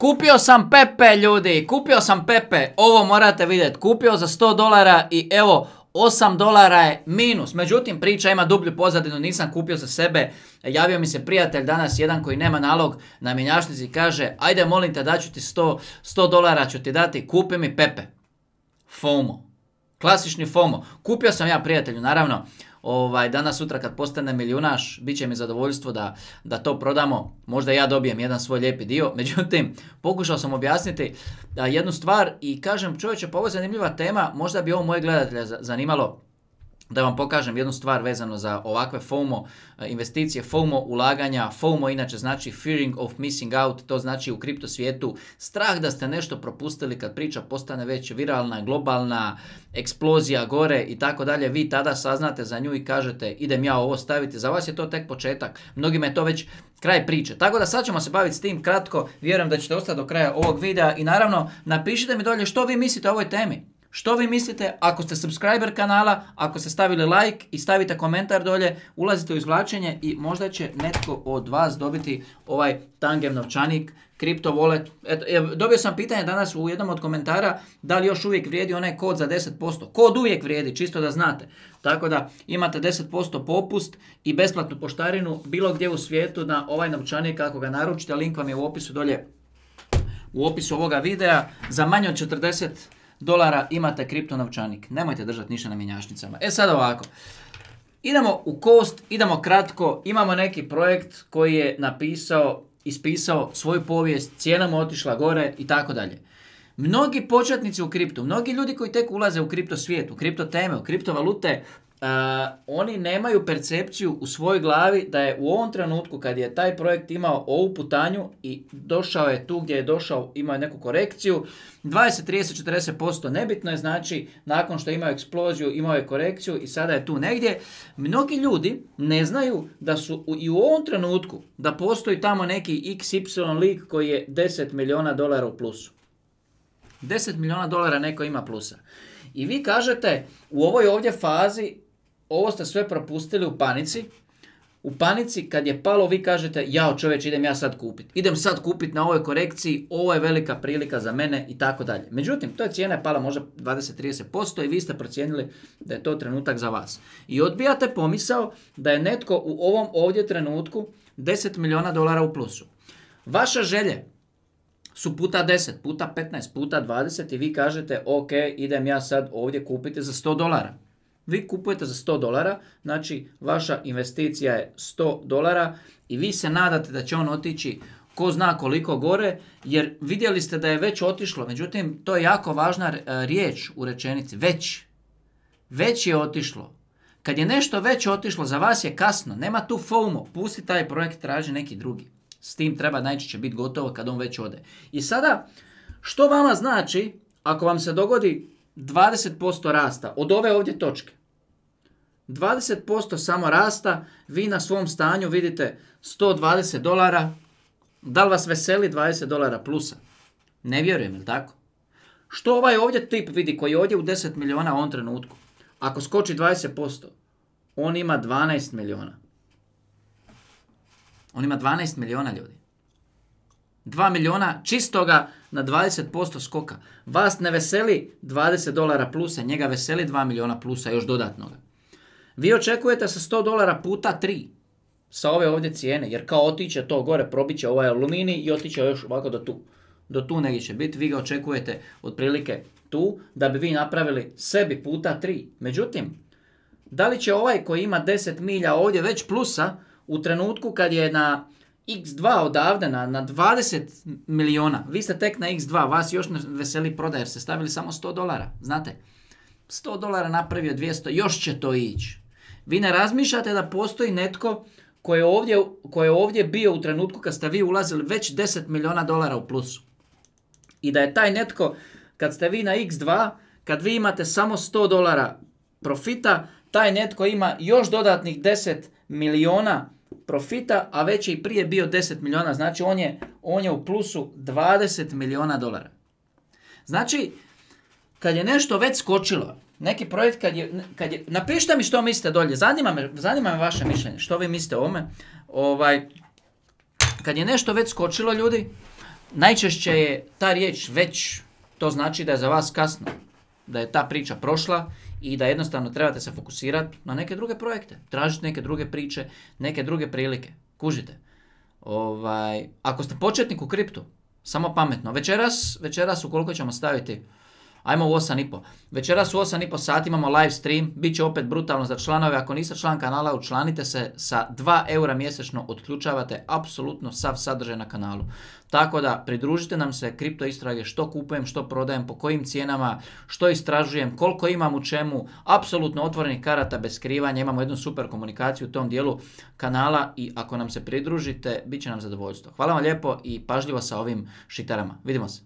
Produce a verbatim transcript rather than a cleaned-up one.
Kupio sam Pepe, ljudi, kupio sam Pepe, ovo morate vidjeti, kupio za sto dolara i evo, osam dolara je minus. Međutim, priča ima dublju pozadinu, nisam kupio za sebe. Javio mi se prijatelj danas, jedan koji nema nalog na mjenjačnici i kaže, ajde molim te, daću ti sto dolara, ću ti dati, kupi mi Pepe. FOMO. Klasični FOMO. Kupio sam ja prijatelju, naravno. Ovaj, danas, sutra kad postane milijunaš, bit će mi zadovoljstvo da, da to prodamo. Možda ja dobijem jedan svoj lijepi dio. Međutim, pokušao sam objasniti a, jednu stvar i kažem, čovječe, pa ovo je zanimljiva tema, možda bi ovo moje gledatelje zanimalo da vam pokažem jednu stvar vezano za ovakve FOMO investicije, FOMO ulaganja. FOMO inače znači fearing of missing out, to znači u kripto svijetu strah da ste nešto propustili kad priča postane već viralna, globalna, eksplozija gore i tako dalje. Vi tada saznate za nju i kažete idem ja ovo staviti. Za vas je to tek početak, mnogima je to već kraj priče. Tako da sad ćemo se baviti s tim kratko, vjerujem da ćete ostati do kraja ovog videa i naravno napišite mi dolje što vi mislite o ovoj temi. Što vi mislite ako ste subscriber kanala, ako ste stavili like i stavite komentar dolje, ulazite u izvlačenje i možda će netko od vas dobiti ovaj Tangem novčanik, Crypto Wallet. Eto, dobio sam pitanje danas u jednom od komentara da li još uvijek vrijedi onaj kod za deset posto. Kod uvijek vrijedi, čisto da znate. Tako da imate deset posto popust i besplatnu poštarinu bilo gdje u svijetu na ovaj novčanik ako ga naručite. Link vam je u opisu dolje, u opisu ovoga videa. Za manje od četrdeset dolara imate kripto novčanik. Nemojte držati ništa na mjenjačnicama. E sad ovako. Idemo u kost, idemo kratko. Imamo neki projekt koji je napisao, ispisao svoju povijest, cijena mu otišla gore i tako dalje. Mnogi početnici u kriptu, mnogi ljudi koji tek ulaze u kripto svijet, u kripto teme, u kripto valute, Uh, oni nemaju percepciju u svojoj glavi da je u ovom trenutku kad je taj projekt imao ovu putanju i došao je tu gdje je došao, imao je neku korekciju, dvadeset, trideset, četrdeset posto nebitno je, znači nakon što je imao eksploziju imao je korekciju i sada je tu negdje. Mnogi ljudi ne znaju da su u, i u ovom trenutku da postoji tamo neki iks ipsilon lik koji je deset milijuna dolara u plusu. deset milijuna dolara neko ima plusa. I vi kažete u ovoj ovdje fazi ovo ste sve propustili u panici. U panici kad je palo vi kažete jao čovječ idem ja sad kupiti. Idem sad kupiti na ovoj korekciji, ovo je velika prilika za mene i tako dalje. Međutim, to je cijena je pala možda dvadeset do trideset posto i vi ste procijenili da je to trenutak za vas. I odbijate pomisao da je netko u ovom ovdje trenutku deset milijuna dolara u plusu. Vaša želje su puta deset, puta petnaest, puta dvadeset i vi kažete ok, idem ja sad ovdje kupiti za sto dolara. Vi kupujete za sto dolara, znači vaša investicija je sto dolara i vi se nadate da će on otići ko zna koliko gore, jer vidjeli ste da je već otišlo, međutim to je jako važna riječ u rečenici, već. Već je otišlo. Kad je nešto već otišlo, za vas je kasno, nema tu FOMO, pusti taj projekt, traži neki drugi. S tim treba najčešće biti gotovo kad on već ode. I sada, što vama znači ako vam se dogodi dvadeset posto rasta od ove ovdje točke? dvadeset posto samo rasta, vi na svom stanju vidite sto dvadeset dolara. Da li vas veseli dvadeset dolara plusa? Ne vjerujem, jel tako? Što ovaj ovdje tip vidi koji je ovdje u deset milijuna u ovom trenutku? Ako skoči dvadeset posto, on ima dvanaest milijuna. On ima dvanaest milijuna ljudi. dva milijuna čistoga na dvadeset posto skoka. Vas ne veseli dvadeset dolara plusa, njega veseli dva milijuna plusa još dodatnoga. Vi očekujete sa sto dolara puta tri sa ove ovdje cijene, jer kao otiće to gore, probiće ovaj aluminij i otiće još ovako do tu. Do tu negdje će biti, vi ga očekujete otprilike tu, da bi vi napravili sebi puta tri. Međutim, da li će ovaj koji ima deset milja ovdje već plusa, u trenutku kad je na iks dva odavde na, na dvadeset milijuna, vi ste tek na iks dva, vas još ne veseli prodaja jer ste stavili samo sto dolara, znate, sto dolara napravio dvjesto, još će to ići. Vi ne razmišljate da postoji netko koji je ovdje, koji je ovdje bio u trenutku kad ste vi ulazili već deset milijuna dolara u plusu. I da je taj netko, kad ste vi na iks dva, kad vi imate samo sto dolara profita, taj netko ima još dodatnih deset milijuna profita, a već je i prije bio deset milijuna, znači on je, on je u plusu dvadeset milijuna dolara. Znači, kad je nešto već skočilo, neki projekt kad je, kad je, napišite mi što mislite dolje, zanima me, zanima me vaše mišljenje, što vi mislite o ome. Ovaj, kad je nešto već skočilo ljudi, najčešće je ta riječ već, to znači da je za vas kasno, da je ta priča prošla i da jednostavno trebate se fokusirati na neke druge projekte, tražiti neke druge priče, neke druge prilike. Kužite. Ovaj, ako ste početnik u kriptu, samo pametno. Večeras, večeras ukoliko ćemo staviti, ajmo u osam i pol. Večeras u osam i pol sati imamo live stream, bit će opet brutalno za članove. Ako niste član kanala, učlanite se, sa dva eura mjesečno otključavate apsolutno sav sadržaj na kanalu. Tako da pridružite nam se, kripto istrage, što kupujem, što prodajem, po kojim cijenama, što istražujem, koliko imam u čemu, apsolutno otvorenih karata bez skrivanja, imamo jednu super komunikaciju u tom dijelu kanala i ako nam se pridružite, bit će nam zadovoljstvo. Hvala vam lijepo i pažljivo sa ovim šitarama. Vidimo se.